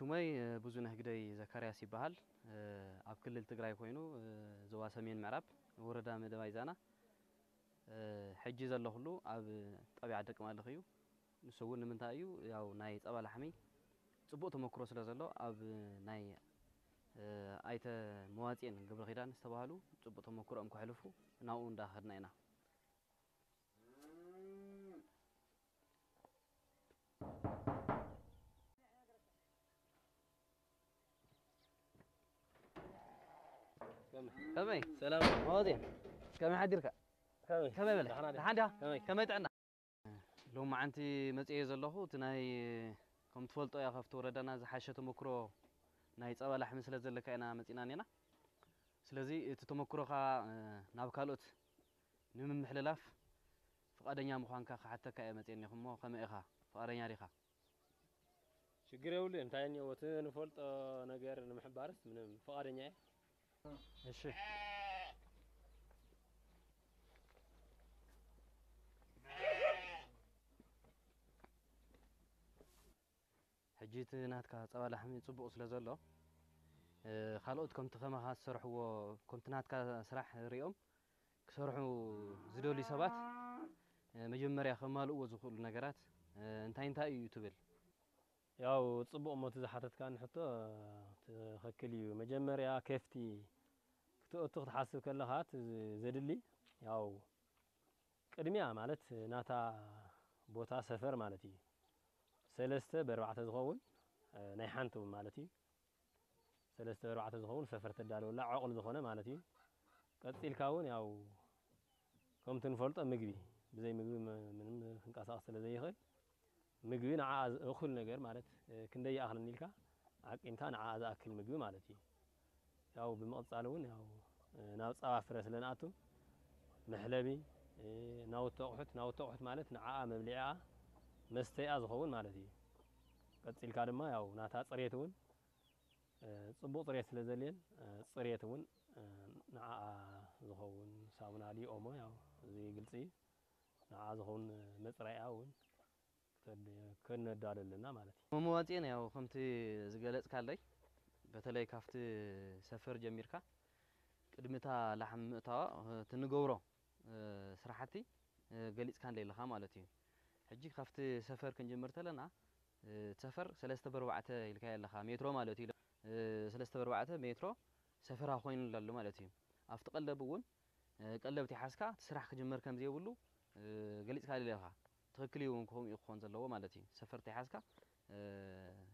ስመይ ብዙነህ ግደይ ዘካርያስ ይበሃል። ኣብ ክልል ትግራይ ኮይኑ ዞባ ሰሜን ምዕራብ ወረዳ መደባይ ዛና ሕጂ ዘለኹሉ ኣብ ጣብያ ዓዲ ቅማልኽ እዩ። ንሱ እውን ንምንታይ እዩ ያው ናይ ፀባ ላሕሚ ፅቡቕ ተመክሮ ስለ ዘሎ ኣብ ናይ ኣይተ መዋፅኤን ገብረ ኪዳን ዝተባህሉ ፅቡቕ ተመክሮኦም ከሕልፉ ናብኡ እንዳኸድና ኢና። ከመይ ሰላም መዋፅኤን ከመይ ሓዲርካ? ከመይ ከመይ በለ ደሓና ዲኻ? ደሓን ዲኻ? ከመይ ከመይ ጥዕና? ሎማዓንቲ መፅኤ ዘለኹ እቲ ናይ ከም ትፈልጦ እያ ካብቲ ወረዳና ዝሓሸ ተመክሮ ናይ ፀባ ላሕሚ ስለ ዘለካ ኢና መፂና ኔና። ስለዚ እቲ ተመክሮኻ ናብ ካልኦት ንምምሕልላፍ ፍቓደኛ ምዃንካ ክሓተካ እየ መፅኤ ኔኹ እሞ ከመይ ኢኻ ፍቓደኛ ዲኻ? ሽግር የብሉ እንታይ እኒኦ እቲ ንፈልጦ ነገር ንምሕባርስ ምንም ፍቓደኛ እየ። እሺ ሕጂ እቲ ናትካ ፀባ ላሕሚ ፅቡቕ ስለ ዘሎ ካልኦት ከምቲ ከማኻ ዝሰርሕዎ ከምቲ ናትካ ስራሕ ሪኦም ክሰርሑ ዝደልዩ ሰባት መጀመርያ ከማልእዎ ዝኽእሉ ነገራት እንታይ እንታይ እዩ ትብል? ያው ፅቡቕ ሞት ዝሓተትካኒ ሕቶ ትኽክል እዩ። መጀመርያ ከፍቲ ክትእቱ ክትሓስብ ከለኻ እቲ ዘድሊ ያው ቅድሚያ ማለት ናታ ቦታ ሰፈር ማለት እዩ። ሰለስተ ብኣርባዕተ ዝኸውን ናይ ሓንቲ እውን ማለት እዩ። ሰለስተ ብኣርባዕተ ዝኸውን ሰፈር ተዳልወላ ዕቑል ዝኾነ ማለት እዩ። ቀፂልካ እውን ያው ከምቲ ንፈልጦ ምግቢ ብዘይ ምግቢ ምንም ክንቀሳቐስ ስለ ዘይኽእል ምግቢ ንዓ እኹል ነገር ማለት ክንደይ ይኣኽለኒ ኢልካ ዓቂንካ ንዓ ዝኣክል ምግቢ ማለት እዩ። ያው ብምቕፃል እውን ያው ናብ ፀባ ፍረ ስለ ንኣቱ መሕለቢ ናውቲ ኣቑሑት ናውቲ ኣቑሑት ማለት ንዓኣ መብሊዕኣ መስተይኣ ዝኸውን ማለት እዩ። ቀፂልካ ድማ ያው ናታ ፅሬት እውን ፅቡቕ ፅሬት ስለ ዘልየን ፅሬት እውን ንዓኣ ዝኸውን ሳሙና ድዩ ኦሞ ያው እዚ ግልፂ እዩ። ንዓኣ ዝኸውን መፅረይኣ እውን ከነዳሉ ኣለና ማለት እዩ። መመዋፅኤን ያው ከምቲ ዝገለፅካለይ በተለይ ካብቲ ሰፈር ጀሚርካ ቅድሚ እታ ላሕሚ ምእታዋ እቲ ንገብሮ ስራሕቲ ገሊፅካለይ ኣለኻ ማለት እዩ። ሕጂ ካብቲ ሰፈር ክንጅምር ተለና ሰፈር ሰለስተ ብኣርባዕተ ኢልካዮ ኣለኻ ሜትሮ ማለት እዩ። ሰለስተ ብኣርባዕተ ሜትሮ ሰፈራ ኮይኑ ኣሎ ማለት እዩ። ኣብቲ ቀለብ እውን ቀለብ ተይሓዝካ እቲ ስራሕ ክጅመር ከም ዘይብሉ ገሊፅካለይ ኣለኻ። ትኽክል እዩ እውን ከምኡ እዩ ክኾን ዘለዎ ማለት እዩ። ሰፈር ተይሓዝካ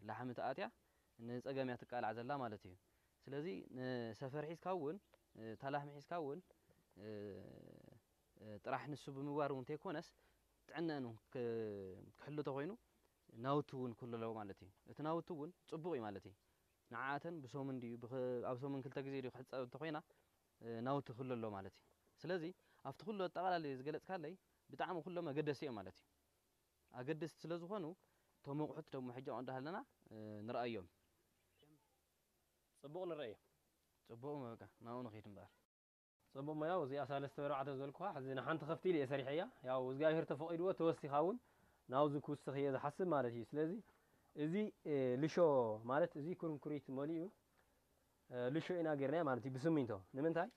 ላሕሚ ተኣትያ ንፀገም እያ ትቃላዕ ዘላ ማለት እዩ። ስለዚ ንሰፈር ሒዝካ እውን እታ ላሕሚ ሒዝካ እውን ጥራሕ ንሱ ብምግባር እውን ተይኮነስ ጥዕነአን እውን ክሕሉ ተኾይኑ ናውቲ እውን ክህሉ ኣለዎ ማለት እዩ። እቲ ናውቲ እውን ፅቡቕ እዩ ማለት እዩ። ንዓኣተን ብሰሙን ድዩ ኣብ ሰሙን ክልተ ግዜ ድዩ ክሕፀብ እንተኮይና ናውቲ ክህሉ ኣሎ ማለት እዩ። ስለዚ ኣብቲ ኩሉ ኣጠቓላሊ ዝገለፅካለይ ብጣዕሚ ኩሎም ኣገደስቲ እዮም ማለት እዩ። ኣገደስቲ ስለ ዝኾኑ እቶም ኣቑሑት ደሞ ሕጂ ኣብኡ እንዳሃለና ንርኣዮም። ፅቡቕ ንረኣዮ። ፅቡቕ በቃ ናብኡ ንኺድ እምበኣር። ፅቡቕ እሞ ያው እዚኣ ሳለስተ ብኣርባዕተ ዝበልኩኻ ሕዚ ንሓንቲ ከፍቲ ኢለ እየ ሰሪሐያ። ያው እግዚኣብሄር ተፈቒድዎ ተወሲኻ እውን ናብዚ ክውስኽ እየ ዝሓስብ ማለት እዩ። ስለዚ እዚ ልሾ ማለት እዚ ኩርንኩሪት መሊኡ ልሾ ኢና ጌርናዮ ማለት እዩ ብስሚንቶ። ንምንታይ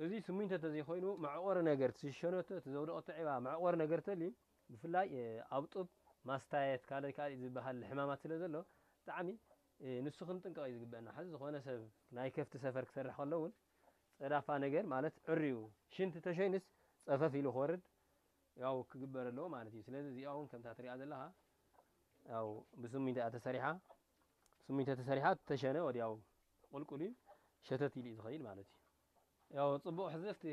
እዚ ስሚንቶ ተዘይኮይኑ መዕቆሪ ነገር እቲ ዝሸነቶ እቲ ዘውደቐቶ ዒባ መዕቆሪ ነገር ተልዩ ብፍላይ ኣብ ጡብ ማስታየት ካልእ ካልእ ዝበሃል ሕማማት ስለ ዘሎ ብጣዕሚ ንሱ ክንጥንቀቕ እዩ ዝግበአና። ሕዚ ዝኾነ ሰብ ናይ ከፍቲ ሰፈር ክሰርሕ ከሎ እውን ፀዳፋ ነገር ማለት ዕርዩ ሽንቲ ተሸይኑስ ፀፈፍ ኢሉ ክወርድ ያው ክግበር ኣለዎ ማለት እዩ። ስለዚ እዚኣ እውን ከምታ ትሪኣ ዘለኻ ያው ብስሚንቶ እያ ተሰሪሓ። ስሚንቶ ተሰሪሓ ተሸነ ወዲያው ቁልቁል እዩ ሸተት ኢሉ እዩ ዝኸይድ ማለት እዩ። ያው ፅቡቕ ሕዚ ኣብቲ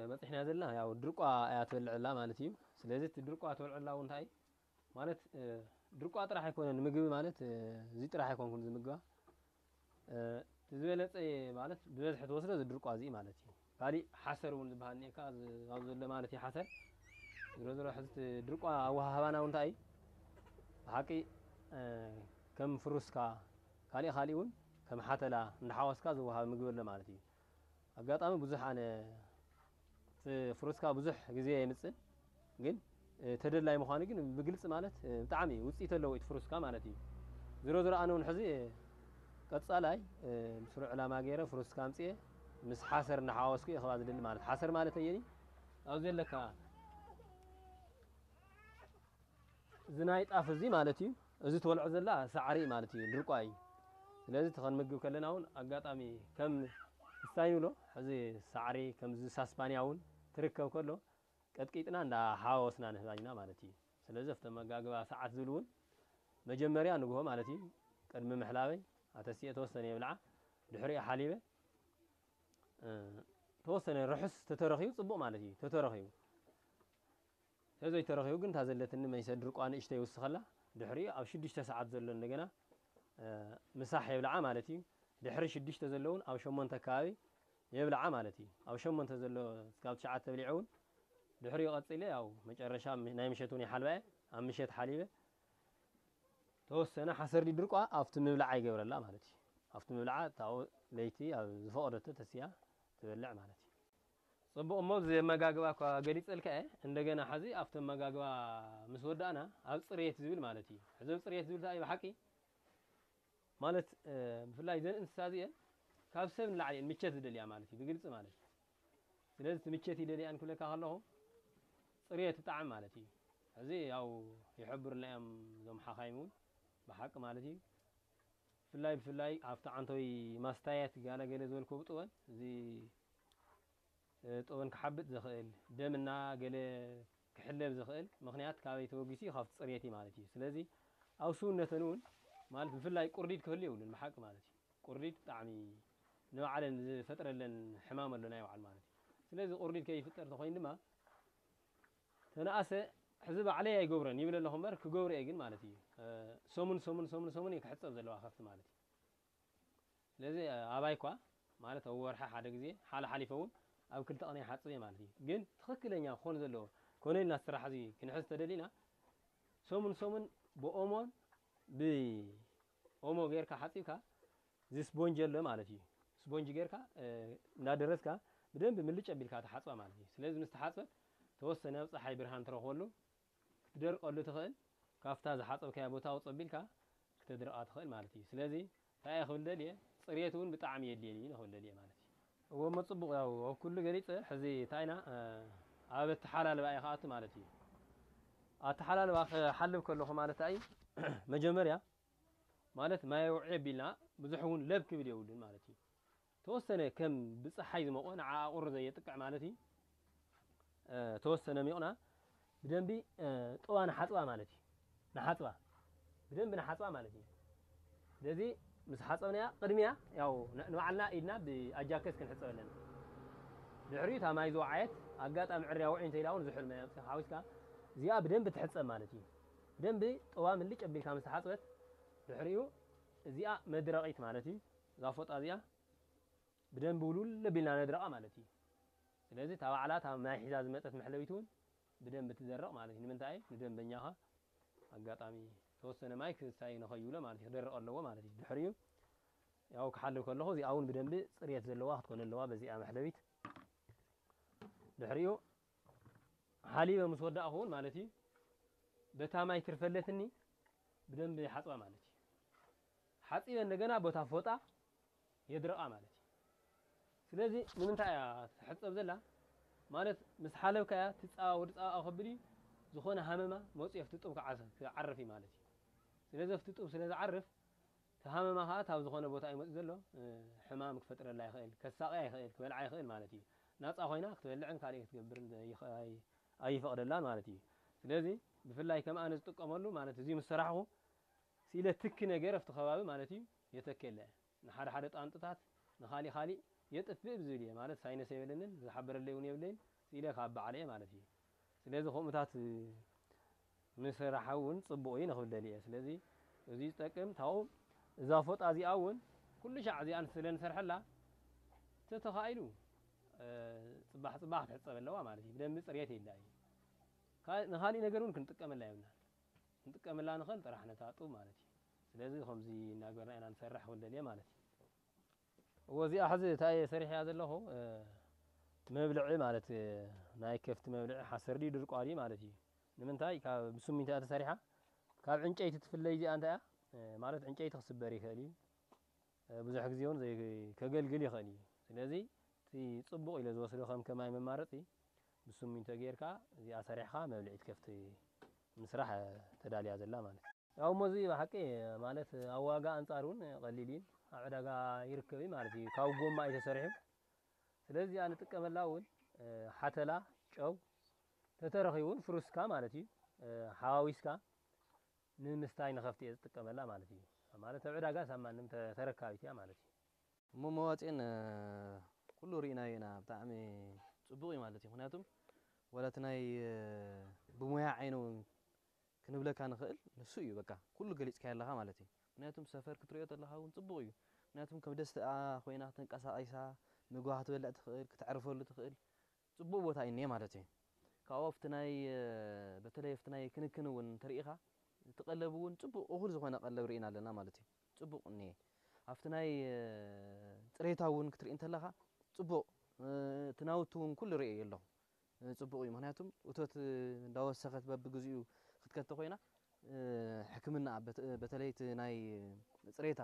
በፂሕና ዘለና ያው ድርቋ እያ ትበልዕ ኣላ ማለት እዩ። ስለዚ እቲ ድርቋ ትበልዕ ኣላ እውን እንታይ ማለት ድርቋ ጥራሕ ኣይኮነን ምግቢ ማለት እዚ ጥራሕ ኣይኮንኩን ዝምግባ እቲ ዝበለፀ ማለት ብበዝሒ ትወስዶ እዚ ድርቋ እዚ ማለት እዩ። ካሊእ ሓሰር እውን ዝበሃል እኒኤካ ኣብዚ ዘሎ ማለት እዩ ሓሰር ዝሮ ዝሮ ሕዚ ድርቋ ኣወሃህባና እውን እንታይ እዩ ብሓቂ ከም ፍሩስካ ካሊእ ካሊእ እውን ከም ሓተላ እንዳሓወስካ ዝወሃብ ምግቢ ኣሎ ማለት እዩ። ኣጋጣሚ ብዙሕ ኣነ እቲ ፍሩስካ ብዙሕ ግዜ የምፅእ ግን ተደላይ ምዃኑ ግን ብግልፂ ማለት ብጣዕሚ ውፅኢት ኣለዎ እቲ ፍሩስካ ማለት እዩ። ዝሮ ዝሮ ኣነ እውን ሕዚ ቀጻላይ ምስሩ ዕላማ ገይረ ፍሩስካ ኣምፅኤ ምስ ሓሰር እናሓወስኩ እየ ከባቢ ዝደሊ ማለት ሓሰር ማለት ኣየኒ ኣብ ዘለካ እዚ ናይ ጣፍ እዚ ማለት እዩ። እዚ ትበልዖ ዘላ ሳዕሪ ማለት እዩ፣ ድርቋ እዩ። ስለዚ እቲ ከንምግብ ከለና እውን ኣጋጣሚ ከም እንታይ ንብሎ ሕዚ ሳዕሪ ከምዚ ሳስፓንያ እውን ትርከብ ከሎ ቀጥቂጥና እንዳ ሓወስና ንህባና ማለት እዩ። ስለዚ ኣብቲ መጋግባ ሰዓት ዝብል እውን መጀመርያ ንግሆ ማለት እዩ ቅድሚ ምሕላበይ ኣተሲኤ ተወሰነ የብልዓ ድሕሪኡ ሓሊበ ተወሰነ ርሑስ ተተረኺቡ ፅቡቕ ማለት እዩ ተተረኺቡ ተዘይተረኺቡ ግን እታ ዘለትኒ መይሰ ድርቋ ንእሽተይ ይውስኸላ ድሕሪኡ ኣብ ሽዱሽተ ሰዓት ዘሎ እንደገና ምሳሕ የብልዓ ማለት እዩ። ድሕሪ ሽዱሽተ ዘለውን ኣብ ሸሞንተ ኣከባቢ የብልዓ ማለት እዩ። ኣብ ሸሞንተ ዘሎ እስካብ ትሽዓተ ብሊዐ እውን ድሕሪኡ ቀፂለ ያው መጨረሻ ናይ ምሸት እውን ይሓልባ እየ። ኣብ ምሸት ሓሊበ ተወሰነ ሓሰር ድርቋ ኣብቲ ምብላዓ ይገብረላ ማለት እዩ። ኣብቲ ምብላዓ እታ ለይቲ ኣብ ዝፈቐደቶ ተስያ ትበልዕ ማለት እዩ። ፅቡቕ እሞ እዚ ኣመጋግባ እኳ ገሊፀልካ እየ። እንደገና ሓዚ ኣብቲ ኣመጋግባ ምስ ወዳእና ኣብ ፅሬት ዝብል ማለት እዩ። ሕዚ ኣብ ፅሬት ዝብል እንታይ እዩ ብሓቂ ማለት ብፍላይ ዘን እንስሳ እዚአን ካብ ሰብ ንላዕሊ እየን ምቸት ዝደልያ ማለት እዩ ብግልፂ ማለት እዩ። ስለዚ እቲ ምቸት ይደልያን ክብለካ ከለኹ ፅሬት ብጣዕሚ ማለት እዩ። እዚ ያው ይሕብሩልና እዮም እዞም ሓኻይም እውን ብሓቂ ማለት እዩ። ብፍላይ ብፍላይ ኣብቲ ዓንቶይ ማስታያት ጋለ ገለ ዝበልኩ ብጥወን እዚ ጥወን ክሓብጥ ዝኽእል ደምና ገለ ክሕለብ ዝኽእል ምኽንያት ካበይ ተበጊሱ እዩ ካብቲ ፅሬት እዩ ማለት እዩ። ስለዚ ኣብ ስውነተን እውን ማለት ብፍላይ ቁርዲድ ክህሉ የብሉን ብሓቂ ማለት እዩ። ቁርዲድ ብጣዕሚ ንባዕለን ዝፈጥረለን ሕማም ኣሎ ናይ ባዕሉ ማለት እዩ። ስለዚ ቁርዲድ ከይፍጠር ተኮይኑ ድማ ተነኣሰ ሕዚ ባዕለይ ኣይገብረን ይብል ኣለኹ እምበር ክገብሮ እየ ግን ማለት እዩ። ሰሙን ሰሙን ሰሙን ሰሙን እየ ክሕፀብ ዘለዋ ከፍቲ ማለት እዩ። ስለዚ ኣባይ እኳ ማለት ኣብ ወርሒ ሓደ ግዜ ሓለ ሓሊፈ እውን ኣብ ክልተ ቀን ይሓፅብ እየ ማለት እዩ። ግን ትኽክለኛ ክኾን ዘለዎ ኮነ ኢልና ስራሕ እዚ ክንሕዝ ተደሊና ሰሙን ሰሙን ብኦሞን ብኦሞ ጌርካ ሓፂብካ እዚ ስፖንጅ ኣሎ ማለት እዩ። ስፖንጅ ጌርካ እንዳደረስካ ብደንብ ምልጭ ኣቢልካ ትሓፅባ ማለት እዩ። ስለዚ ምስ ተሓፅበት ተወሰነ ኣብ ፀሓይ ብርሃን ትረኽበሉ ክትደርቀሉ ትኽእል። ካብታ ዝሓፀብካያ ቦታ ውፅ ኣቢልካ ክተድርቃ ትኽእል ማለት እዩ። ስለዚ እንታይ እየ ክብል ደልየ ፅሬት እውን ብጣዕሚ የድልየኒ እዩ ክብል ደልየ ማለት እዩ። እዎ እሞ ፅቡቕ ያው ኣብ ኩሉ ገሊፀ ሕዚ እንታይ ኢና ኣብ ኣተሓላልባ እየ ክኣቱ ማለት እዩ። ኣተሓላልባ ክሓልብ ከለኹ ማለት እዩ መጀመርያ ማለት ማይ ኣውዒ ኣቢልና ብዙሕ እውን ለብ ክብል የብሉን ማለት እዩ። ተወሰነ ከም ብፀሓይ ዝመቖ ንዓ ኣቑሪ ዘየጥቅዕ ማለት እዩ። ተወሰነ ሚቕና ብደንቢ ጥዋ ንሓፅባ ማለት እዩ። ንሓፅባ ብደንቢ ንሓፅባ ማለት እዩ። ስለዚ ምስ ሓፀብናያ ቅድሚያ ያው ንባዕልና ኢድና ብኣጃከስ ክንሕፀብ ኣለና። ድሕሪኡ እታ ማይ ዝወዓየት ኣጋጣሚ ዕርያ ውዒ እንተኢላ እውን ዝሑል ማይ ኣምፅኻ ሓዊስካ እዚኣ ብደንቢ ትሕፀብ ማለት እዩ። ብደንቢ ጥዋ ምልጭ ኣቢልካ ምስ ተሓፅበት ድሕሪኡ እዚኣ መድረቒት ማለት እዩ። እዛ ፎጣ እዚኣ ብደንቢ ውልውል ኣቢልና ነድርቓ ማለት እዩ። ስለዚ እታ ባዕላ እታ ማይ ሒዛ ዝመፀት መሕለቢት እውን ብደንቢ ትደርቕ ማለት እዩ። ንምንታይ? ንደንበኛኻ ኣጋጣሚ ተወሰነ ማይ ክሳይ ንኸይብሎ ማለት እዩ። ክደርቕ ኣለዎ ማለት እዩ። ድሕሪኡ ያው ክሓልብ ከለኹ እዚኣ እውን ብደንቢ ፅርየት ዘለዋ ክትኮን ኣለዋ። በዚኣ መሕለቢት ድሕሪኡ ሓሊበ ምስ ወዳእኹ እውን ማለት እዩ በታ ማይ ትርፈለትኒ ብደንቢ ሓፅባ ማለት እዩ። ሓፂበ እንደገና ቦታ ፎጣ የድርቓ ማለት እዩ። ስለዚ ንምንታይ እያ ትሕፀብ ዘላ ማለት ምስ ሓለብካ እያ ትፃባ ወዲ ፃባ ከብድ እዩ ዝኾነ ሃመማ መፅኡ ኣብቲ ጡብ ክዓርፍ እዩ ማለት እዩ። ስለዚ ኣብቲ ጡብ ስለ ዝዓርፍ እቲ ሃመማ ከዓ ካብ ዝኾነ ቦታ እዩ መፅኡ ዘሎ ሕማም ክፈጥረላ ይኽእል፣ ከሳቕያ ይኽእል፣ ክበልዓ ይኽእል ማለት እዩ። ናፃ ኮይና ክትበልዕን ካልእ ክትገብርን ኣይፈቕደላን ማለት እዩ። ስለዚ ብፍላይ ከም ኣነ ዝጥቀመሉ ማለት እዚ ምስ ሰራሕኹ ስኢለ ትኪ ነገር ኣብቲ ከባቢ ማለት እዩ የተከለ ንሓደ ሓደ ጣንጥታት ንኻሊእ ካሊእ የጥፍእ ብዝብል እየ ማለት ሳይነስ የብለንን ዝሓበረለይ እውን የብለይን ስኢለ ካብ በዓለ እየ ማለት እዩ። ስለዚ ከምኡታት ምስራሕ እውን ፅቡቕ እዩ ንኽብል ደልየ እየ። ስለዚ እዚ ዝጠቅም ታው እዛ ፎጣ እዚኣ እውን ኩሉ ሻዕ እዚኣ ስለ ንሰርሐላ ተተኻኢሉ ፅባሕ ፅባሕ ክትሕፀብ ኣለዋ ማለት እዩ። ብደንቢ ፅርየት የላ እዩ። ንኻሊእ ነገር እውን ክንጥቀመላ የብልና። ክንጥቀመላ ንኽእል ጥራሕ ነታ ጡብ ማለት እዩ። ስለዚ ከምዚ እናገበርና ኢና ንሰርሕ ክብል ደልየ ማለት እዩ። እዎ እዚኣ ሕዚ እታ እየ ሰሪሕያ ዘለኹ መብልዒ ማለት ናይ ከፍቲ መብልዒ ሓሰር ድዩ ድርቋ ድዩ ማለት እዩ። ንምንታይ ካብ ብስሚንቶ እያ ተሰሪሓ ካብ ዕንጨይቲ ትፍለይ እዚኣ እንታይ እያ ማለት ዕንጨይቲ ክስበር ይኽእል እዩ። ብዙሕ ግዜ እውን ከገልግል ይኽእል እዩ። ስለዚ እቲ ፅቡቕ ኢለ ዝወስዶ ከም ከማይ መማረፂ ብስሚንቶ ጌርካ እዚኣ ሰሪሕካ መብልዒት ከፍቲ ምስራሕ ተዳልያ ዘላ ማለት እዩ። ያው ሞዚ ብሓቂ ማለት ኣብ ዋጋ ኣንፃር እውን ቀሊል እዩ። ኣብ ዕዳጋ ይርከብ እዩ ማለት እዩ። ካብ ጎማ እዩ ተሰሪሑ። ስለዚ እዚኣ ንጥቀመላ እውን ሓተላ፣ ጨው ተተረኺቡ እውን ፍሩስካ ማለት እዩ ሓዋዊስካ ንምስታይ ንኸፍቲ እየ ዝጥቀመላ ማለት እዩ። ማለት ኣብ ዕዳጋ ሳብ ማንም ተረካቢት እያ ማለት እዩ። እሞ መዋፅኤን ኩሉ ርኢናዮ ኢና። ብጣዕሚ ፅቡቕ እዩ ማለት እዩ። ምክንያቱም ዋላ እቲ ናይ ብሞያ ዓይኒ እውን ክንብለካ ንኽእል ንሱ እዩ። በቃ ኩሉ ገሊፅካዮ ኣለኻ ማለት እዩ። ምክንያቱም ሰፈር ክትሪኦ ተለኻ እውን ፅቡቕ እዩ። ምክንያቱም ከም ደስትኣ ኮይና ተንቀሳቒሳ ምግባ ክትበልዕ ትኽእል፣ ክትዕርፈሉ ትኽእል ፅቡቕ ቦታ እዩ እኒአ ማለት እዩ። ካብኡ ኣብቲ ናይ በተለይ ኣብቲ ናይ ክንክን እውን እንተሪኢኻ እቲ ቀለብ እውን ፅቡቕ እኹል ዝኾነ ቀለብ ርኢና ኣለና ማለት እዩ። ፅቡቕ እኒአ ኣብቲ ናይ ፅሬታ እውን ክትርኢ እንተለኻ ፅቡቕ እቲ ናውቲ እውን ኩሉ ርእየ ኣለኹ። ፅቡቕ እዩ። ምክንያቱም እቶት እንዳወሰኸት በብግዚኡ ክትከተ ኮይና ሕክምና በተለይ እቲ ናይ ፅሬታ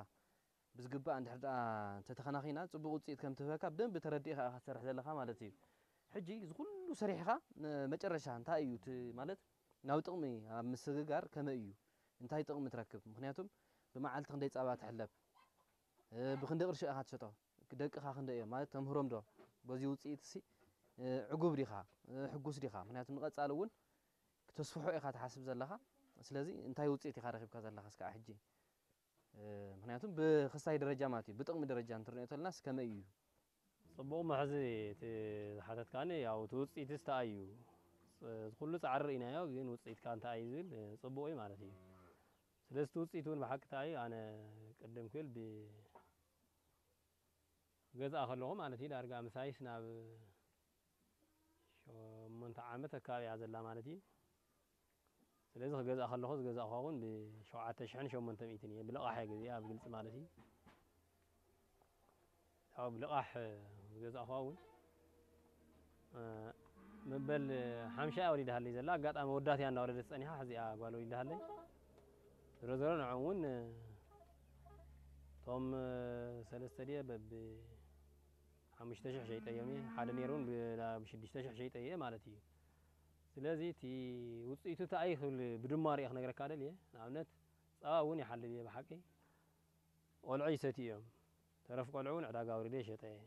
ብዝግባእ እንድሕር ደኣ እንተተኸናኺና ፅቡቕ ውፅኢት ከም ትህበካ ብደንቢ ተረዲእኻ ኢኻ ትሰርሕ ዘለኻ ማለት እዩ። ሕጂ እዚ ኩሉ ሰሪሕኻ መጨረሻ እንታይ እዩ እቲ ማለት ናብ ጥቕሚ ኣብ ምስግጋር ከመይ እዩ እንታይ ጥቕሚ ትረክብ? ምክንያቱም ብመዓልቲ ክንደይ ፃባ ትሕለብ፣ ብክንደይ ቅርሺ ኢኻ ትሸጦ፣ ደቅኻ ክንደይ እዮም ማለት ተምህሮም ዶ በዚ ውፅኢት ሲ ዕጉብ ዲኻ ሕጉስ ዲኻ? ምክንያቱ ንቐፃሊ እውን ክተስፍሖ ኢኻ ትሓስብ ዘለኻ። ስለዚ እንታይ ውፅኢት ኢኻ ረኺብካ ዘለኻ እስካዕ ሕጂ? ምክንያቱም ብክስታይ ደረጃ ማለት እዩ ብጥቕሚ ደረጃ እንትርንኦ ተለና እስከመይ እዩ? ፅቡቕ መሕዚ እቲ ዝሓተትካኒ ያው እቲ ውፅኢት እንታይ እዩ? ኩሉ ፃዕሪ ርኢናዮ ግን ውፅኢትካ እንታይ እዩ ዝብል ፅቡቕ እዩ ማለት እዩ። ስለዚ እቲ ውፅኢት እውን ብሓቂ እንታይ እዩ ኣነ ቅድም ክብል ብ ገዝኣ ከለኹ ማለት እዩ ዳርጋ ምሳይስ ናብ ሸሞንተ ዓመት ኣካባቢ እያ ዘላ ማለት እዩ። ስለዚ ክገዝኣ ከለኹ ዝገዛእኹዋ እውን ብሸውዓተ ሽሕን ሸሞንተ ሚእትን እየ ብልቓሕ እየ ገዚኣ ብግልፂ ማለት እዩ። ያው ብልቓሕ ዝገዛእኹዋ እውን መበል ሓምሻ እያ ወሊዳሃለይ ዘላ ኣጋጣሚ ወዳት እያ እንዳወለደት ፀኒሓ ሕዚኣ ጓል ወሊዳሃለይ። ዝሮ ዝሮ ንዕኦም እውን እቶም ሰለስተ ድየ በብ ሓሙሽተ ሽሕ ሸይጠዮም እየ ሓደ ነይሩ እውን ብሽዱሽተ ሽሕ ሸይጠ እየ ማለት እዩ። ስለዚ እቲ ውፅኢቱ እንታይ ክብል ብድማር እየ ክነግረካ ደልየ። ንኣብነት ፀባ እውን ይሓልብ እየ ብሓቂ ቆልዑ ይሰትዩ እዮም። ተረፍ ቆልዑ እውን ዕዳጋ ኣውሪደ ይሸጠ እየ።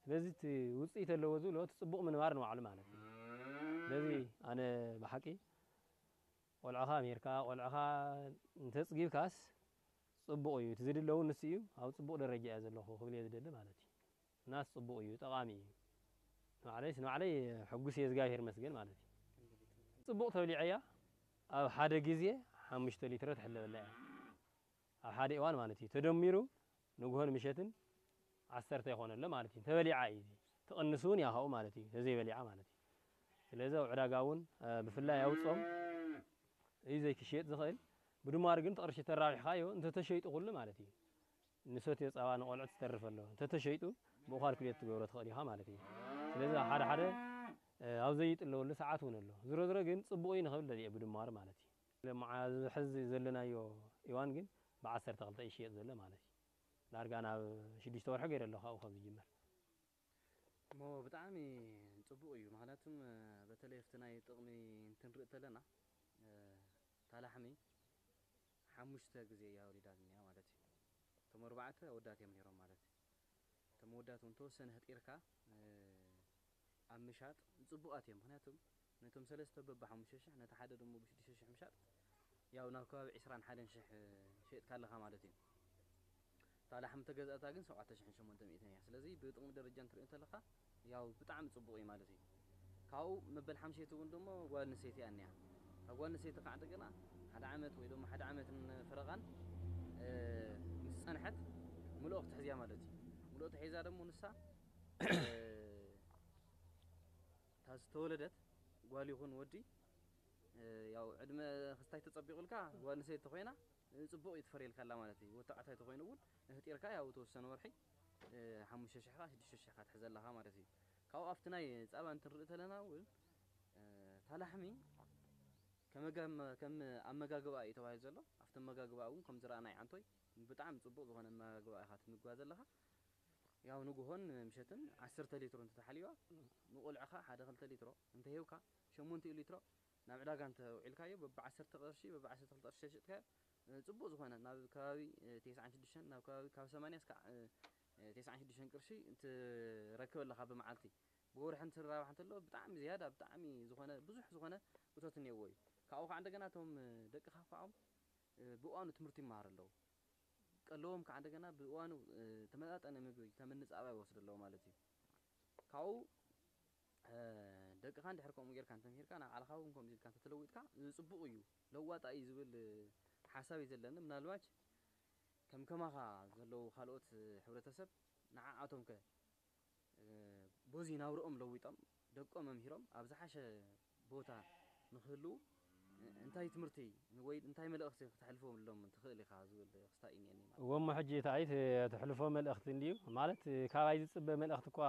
ስለዚ እቲ ውፅኢት ኣለዎ ዝብሎ እቲ ፅቡቕ ምንባር ንባዕሉ ማለት እዩ። ስለዚ ኣነ ብሓቂ ቆልዕኻ ኣምሂርካ ቆልዕኻ እንተፅጊብካስ ፅቡቕ እዩ። እቲ ዝድለ እውን ንሱ እዩ። ኣብ ፅቡቕ ደረጃ እየ ዘለኹ ክብል እየ ዝደሊ ማለት እዩ። እናስ ፅቡቕ እዩ፣ ጠቓሚ እዩ። ንባዕለይስ ንባዕለይ ሕጉስ እየ እግዚኣብሔር ይመስገን ማለት እዩ። ፅቡቕ ተብሊዐያ ኣብ ሓደ ግዜ ሓሙሽተ ሊትሮ ትሕለበላ እያ ኣብ ሓደ እዋን ማለት እዩ። ተደሚሩ ንግሆን ምሸትን ዓሰርተ ይኾነ ኣሎ ማለት እዩ። ተበሊዓ እዩ ትቕንስ እውን እያ ካብኡ ማለት እዩ። ተዘይበሊዓ ማለት እዩ። ስለዚ ኣብ ዕዳጋ እውን ብፍላይ ኣብ ፆም እዩ ዘይክሽየጥ ዝኽእል። ብድማር ግን እቲ ቅርሺ ተራቢሕካዮ እንተተሸይጡ ኩሉ ማለት እዩ። ንሰትዮ ጸባ ንቆልዑት ዝተርፍ ኣሎ እንተተሸይጡ ብኡ ካልኩሌት ትገብሮ ትኽእል ኢኻ ማለት እዩ። ስለዚ ሓደ ሓደ ኣብ ዘይጥለወሉ ሰዓት እውን ኣሎ። ዝሮ ዝሮ ግን ጽቡቕ እዩ ንኽብል ደልየ ብድማሩ ማለት እዩ። ሎምዓ እዚ ሕዚ ዘለናዮ እዋን ግን ብዓሰርተ ክልተ ይሽየጥ ዘሎ ማለት እዩ። ዳርጋ ናብ ሽዱሽተ ወርሒ ገይረ ኣለኹ ካብኡ ካብ ዝጅመር። እሞ ብጣዕሚ ጽቡቕ እዩ። ምኽንያቱም በተለይ ኣብቲ ናይ ጥቕሚ እንትንርኢ ተለና እታ ላሕሚ ሓሙሽተ ግዜ እያ ወሊዳ ዝኒኣ ማለት እዩ። እቶም ኣርባዕተ ኣወዳት እዮም ነይሮም ማለት እዩ። እቶም ኣወዳት እውን ተወሰነ ህጢርካ ኣብ ምሻጥ ጽቡቓት እዮም። ምኽንያቱም ነቶም ሰለስተ በብሓሙሽተ ሽሕ ነቲ ሓደ ደሞ ብሽዱሽተ ሽሕ ምሻጥ ያው ናብ ከባቢ ዕስራን ሓደን ሽሕ ሸይጥካ ኣለኻ ማለት እዩ። እታ ላሕሚ ተገዛእታ ግን ሸውዓተ ሽሕን ሸሞንተ ሚእትን እያ። ስለዚ ብጥቕሚ ደረጃ እንትሪኦ እንተለኻ ያው ብጣዕሚ ጽቡቕ እዩ ማለት እዩ። ካብኡ መበል ሓምሸይቲ እውን ደሞ ጓል ኣንስተይቲ እያ እኒኣ። እታ ጓል ኣንስተይቲ ከዓ እንደገና ሓደ ዓመት ወይ ደሞ ሓደ ዓመትን ፈረቓን ምስ ጸንሐት ምልኦ ክትሕዝ እያ ማለት እዩ። ምልኦ ተሒዛ ደሞ ንሳ እታ ዝተወለደት ጓል ይኹን ወዲ ያው ዕድመ ክስታይ ተጸቢቑልካ ጓል ኣንስተይቲ ተኾይና ጽቡቕ እዩ ትፈርየልካ ኣላ ማለት እዩ። ወዲ ተባዕታይ ተኾይኑ እውን ህጢርካ ያው ተወሰነ ወርሒ ሓሙሽተ ሽሕ ኻ ሽዱሽተ ሽሕ ኻ ትሕዘ ኣለኻ ማለት እዩ። ካብኡ ኣብቲ ናይ ጸባ እንትንርኢ ተለና እውን እታ ላሕሚ ከም ኣመጋግባ እዩ ተባሂሉ ዘሎ። ኣብቲ ኣመጋግባ እውን ከም ዝረኣናይ ዓንቶይ ብጣዕሚ ፅቡቕ ዝኾነ ኣመጋግባ ኢኻ ትምግባ ዘለኻ። ያው ንግሆን ምሸትን ዓሰርተ ሊትሮ እንተተሓሊባ ንቆልዕኻ ሓደ ክልተ ሊትሮ እንተሂብካ ሸሞንቲኡ ሊትሮ ናብ ዕዳጋ እንተውዒልካዮ በቢ ዓሰርተ ቅርሺ በቢ ዓሰርተ ክልተ ቅርሺ ተሸጥካዮ፣ እ፣ ፅቡቕ ዝኾነ ናብ ከባቢ፣ እ፣ ተስዓን ሽዱሽተን ናብ ከባቢ ካብ ሰማንያ እስካዕ፣ እ፣ እ፣ ተስዓን ሽዱሽተን ቅርሺ እንትረክበለኻ ብመዓልቲ። ብወርሒ እንትራባሕ እንተሎ ብጣዕሚ ዝያዳ ብጣዕሚ ዝኾነ ብዙሕ ዝኾነ እቶት እኒአዎ እዩ። ካብኡ ከዓ እንደገና እቶም፣ እ፣ ደቅኻ ከዓ፣ እ፣ ብእዋኑ ትምህርቲ ይመሃሩ ኣለዉ። ቀለዎም ከዓ እንደገና ብእዋኑ፣ እ፣ ተመጣጠነ ምግቢ ከም ንፃባ ይወስዱ ኣለዉ ማለት እዩ። ካብኡ፣ እ፣ ደቅኻ እንድሕር ከምኡ ጌርካ እንተምሂርካ ንባዕልኻ እውን ከምኡ ኢልካ እንተተለዊጥካ፣ እዚ ፅቡቕ እዩ፣ ለዋጣ እዩ ዝብል፣ እ፣ ሓሳብ እዩ ዘለኒ። ምናልባች ከም ከማኻ ዘለዉ ካልኦት፣ እ፣ ሕብረተሰብ ንዓኣቶም ከ፣ እ፣ በዚ ናብርኦም ለዊጦም ደቆም መምሂሮም ኣብ ዝሓሸ ቦታ ንክህልዉ፣ እ፣ እንታይ ትምህርቲ ወይ እንታይ መልእኽቲ ክተሕልፈሎም ትኽእል ኢኻ ዝብል ክስታይ እዩ እኒአኒ ማለት እዩ። እወ፣ እሞ ሕጂ እቲ ኣይት ተሕልፎ መልእኽቲ እንድዩ ማለት፣ እ፣ ካባይ ዝጽበ መልእኽቲ እኳ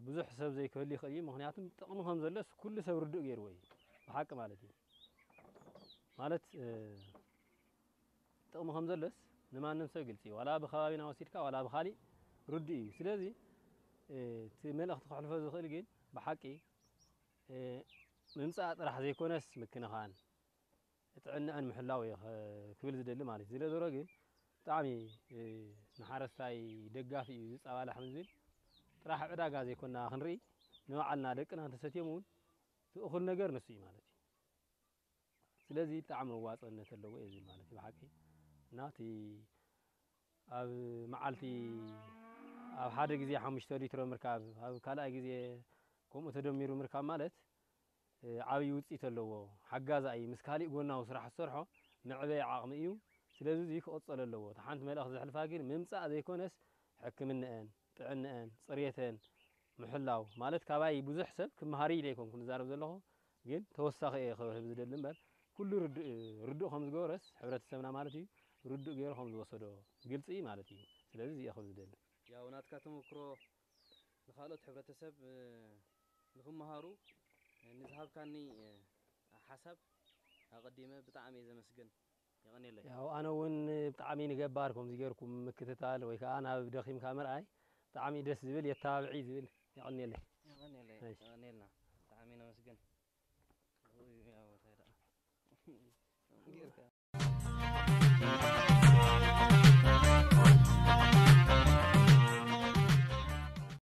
ብዙሕ ሰብ ዘይክህሉ ይኽእል እዩ። ምኽንያቱም ጥቕሚ ከም ዘሎስ ኩሉ ሰብ ርዱእ ገይርዎ እዩ። ብሓቂ ማለት እዩ። ማለት፣ እ፣ ጥቕሚ ከም ዘሎስ ንማንም ሰብ ግልጺ እዩ። ዋላ ብከባቢና ወሲድካ ዋላ ብኻሊእ ርዱእ እዩ። ስለዚ፣ እ፣ እቲ መልእኽቲ ከሕልፎ ዝኽእል ግን ብሓቂ፣ እ፣ ምምጻእ ጥራሕ ዘይኮነስ ምክንኻን፣ ጥዕናኣን ምሕላው እየ ኸ-፣ ክብል ዝደሊ ማለት እዩ። ዝለ ዞሮ ግን ብጣዕሚ፣ እ፣ ንሓረስታይ ደጋፊ እዩ። እዚ ጸባ ላሕሚ ዝብል ጥራሕ ዕዳጋ ዘይኮና ክንርኢ፣ ንባዕልና ደቅና እንተሰትዮም እውን እቲ እኹል ነገር ንሱ እዩ ማለት እዩ። ስለዚ ብጣዕሚ መዋጽእነት ኣለዎ እየ ዝብል ማለት እዩ ብሓቂ። እና እቲ ኣብ መዓልቲ ኣብ ሓደ ግዜ ሓሙሽተ ሊትሮ ምርካብ፣ ኣብ ካልኣይ ግዜ ከምኡ ተደሚሩ ምርካብ ማለት፣ እ፣ ዓብዪ ውጽኢት ኣለዎ። ሓጋዛይ ምስ ካሊእ ጎናዊ ስራሕ ዝሰርሖ መዕበዪ ዓቕሚ እዩ። ስለዚ እዚ ክቕጸል ኣለዎ። እታ ሓንቲ መልእኽቲ ዘሕልፋ ግን ምምጻእ ዘይኮነስ ሕክምንአን፣ ጥዕንአን፣ ጽሬተን ምሕላው ማለት ካባይ ብዙሕ ሰብ ክመሃር ኢለ ኣይኮንኩን ዝዛረብ ዘለኹ፣ ግን ተወሳኺ እየ ክህብ ዝደሊ እምበር ኩሉ ርዱእ፣ ርዱእ ከም ዝገበረስ ሕብረተሰብና ማለት እዩ ርዱእ ገይሩ ከም ዝወሰዶ ግልጺ ማለት እዩ። ስለዚ እዚ እየ ክብል ዝደሊ። ያው ናትካ ተመክሮ ንኻልኦት ሕብረተሰብ፣ እ፣ ንኽመሃሩ፣ እ፣ ንዝሃብካኒ፣ እ፣ ሓሳብ ኣቐዲመ ብጣዕሚ እየ ዘመስግን። የቐንየለይ። ያው ኣነ እውን ብጣዕሚ ንገባር ከምዚ ጌርኩም ምክትታል ወይ ከዓ ናብ ደኺምካ ምርኣይ ብጣዕሚ ደስ ዝብል፣ የተባብዒ ዝብል። የቐንየለይ። የቐንየለይ። እሺ። የቐንየልና። ብጣዕሚ ነመስግን። ያው እንታይ ደኣ ጌርካ